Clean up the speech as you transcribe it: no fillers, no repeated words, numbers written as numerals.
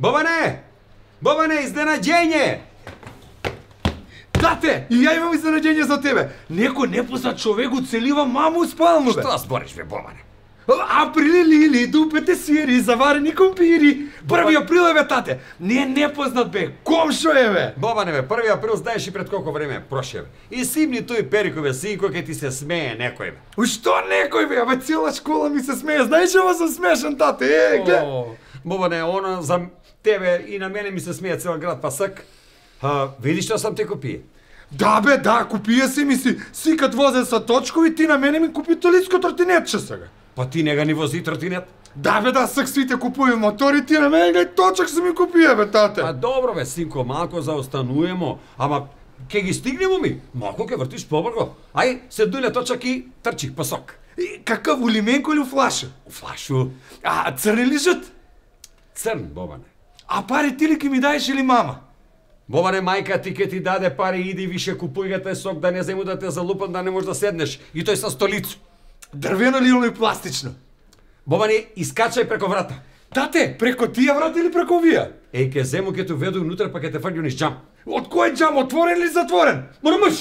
Бобане! Бобане, изненаđenje! Тате, и ја имам изненаđenje за тебе. Некој непознат човек уцелива маму спално, бе. Што збориш, бе, Бобане? Априли лили, дупете сири, заварени компири. 1 април е, бе, тате. Не е непознат, бе. Комшо е, бе. Бобане, бе, 1 април знаеш и пред колко време проше, бе. И симни тој перикове, синко, ке ти се смее некој, бе. Што некој, бе? Бе, цела школа ми се смее. Знаеш, ова сум смешен, тате. Гледа. Бобане, она за тебе и на мене ми се смее цел град пасак. Видиш што сам те купи? Да, бе, да, купија си ми си. Сикат возен са точкови, ти на мене ми купи толицко тротинетче сега. Па ти нега ни вози тротинет? Да, бе, да, сак свите купуи мотори, ти на мене гај точак се ми купија, бе, тате. А добро, бе, синко, малко заостануемо, ама ке ги стигнемо ми. Малко ке вртиш побрго. Ај, се дујле точак и трчих пасок. И какав, у лименко или у флаша? У флашу. А црни ли жут? Црн, Бобане. А пари ти ли ке ми даеш или мама? Бобане, мајка ти ке ти даде пари, иди више купуј те сок, да не зему да те залупам, да не можеш да седнеш. И тој со столицу. Дрвено ли или пластично? Бобане, искачај преко врата. Тате, преко тија врата или преко вија? Ке зему, ке те веду внутре, па ке те фрѓу низ џам. Од кој џам, отворен или затворен? Мора мъж!